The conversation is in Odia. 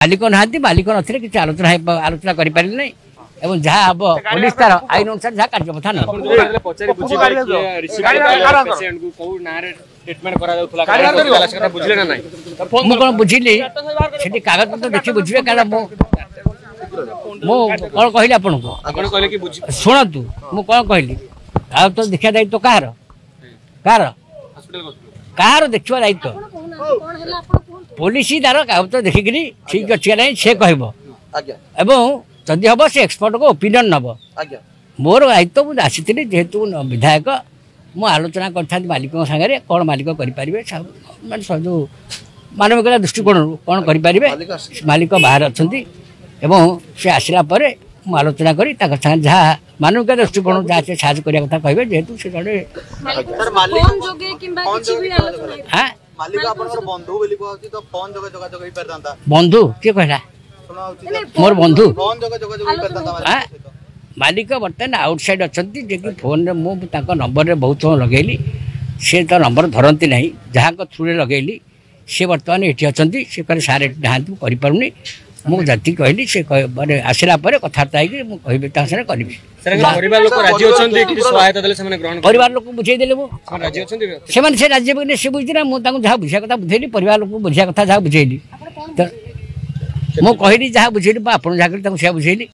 ମାଲିକ ନାହାନ୍ତି, ମାଲିକ ନଥିଲେ କିଛି ଆଲୋଚନା କରିପାରିଲେ ନାହିଁ ଏବଂ ଯାହା ହବ ପୋଲିସ ତାର ଆଇନ ଅନୁସାରେ ଯାହା କାର୍ଯ୍ୟପନ୍ଥା ନେବ। ମୁଁ କଣ ବୁଝିଲି ସେଠି କାଗଜପତ୍ର ଦେଖି ବୁଝିବେ, କାରଣ ମୁଁ କଣ କହିଲି ଆପଣଙ୍କୁ ଶୁଣନ୍ତୁ, ମୁଁ କଣ କହିଲି? କାଗଜପତ୍ର ଦେଖିବା ଦାୟିତ୍ୱ କାହାର? କାହାର କାହାର ଦେଖିବା ଦାୟିତ୍ୱ? ପୋଲିସ ତାର କାଗଜପତ୍ର ଦେଖିକିରି ଠିକ ଅଛି କି ନାହିଁ ସେ କହିବ, ଏବଂ ଯଦି ହବ ସେ ଏକ୍ସପର୍ଟଙ୍କ ଓପିନିଅନ୍ ନେବ। ମୋର ଦାୟିତ୍ୱ, ମୁଁ ଆସିଥିଲି ଯେହେତୁ ବିଧାୟକ, ମୁଁ ଆଲୋଚନା କରିଥାନ୍ତି ମାଲିକଙ୍କ ସାଙ୍ଗରେ କ'ଣ ମାଲିକ କରିପାରିବେ, ମାନେ ଯେଉଁ ମାନବିକତା ଦୃଷ୍ଟିକୋଣରୁ କ'ଣ କରିପାରିବେ। ମାଲିକ ବାହାରେ ଅଛନ୍ତି ଏବଂ ସେ ଆସିଲା ପରେ ମୁଁ ଆଲୋଚନା କରି ତାଙ୍କ ସାଙ୍ଗରେ ଯାହା ମାନବିକତା ଦୃଷ୍ଟିକୋଣରୁ ଯାହା ସେ ସାହାଯ୍ୟ କରିବା କଥା କହିବେ, ଯେହେତୁ ସେ ଜଣେ। ବନ୍ଧୁ କିଏ କହିଲା ମୋର ବନ୍ଧୁ? ମାଲିକ ବର୍ତ୍ତମାନ ଆଉଟସାଇଡ୍ ଅଛନ୍ତି, ଯିଏକି ଫୋନ୍ରେ ମୁଁ ତାଙ୍କ ନମ୍ବରରେ ବହୁତ ସମୟ ଲଗେଇଲି, ସେ ତା ନମ୍ବର ଧରନ୍ତି ନାହିଁ। ଯାହାଙ୍କ ଥ୍ରୁରେ ଲଗେଇଲି ସେ ବର୍ତ୍ତମାନ ଏଠି ଅଛନ୍ତି। ସେ କହିଲେ ସାର୍ ଏଠି ନାହାନ୍ତି, ମୁଁ କରିପାରୁନି। ମୁଁ ଯେତିକି କହିଲି ସେ ମାନେ ଆସିଲା ପରେ କଥାବାର୍ତ୍ତା ହେଇକି ମୁଁ କହିବି, ତାଙ୍କ ସାଙ୍ଗରେ କରିବି। ପରିବାର ଲୋକଙ୍କୁ ବୁଝେଇଦେଲେ ମୁଁ, ସେମାନେ ସେ ରାଜି ହେବେ ସେ ବୁଝିଛି ନା। ମୁଁ ତାଙ୍କୁ ଯାହା ବୁଝିବା କଥା ବୁଝେଇଲି, ପରିବାର ଲୋକଙ୍କୁ ବୁଝିବା କଥା ଯାହା ବୁଝେଇଲି, ମୁଁ କହିଲି ଯାହା ବୁଝେଇଲି, ମୁଁ ଆପଣ ଯାହା କହିଲି ତାଙ୍କୁ ସେୟା ବୁଝେଇଲି।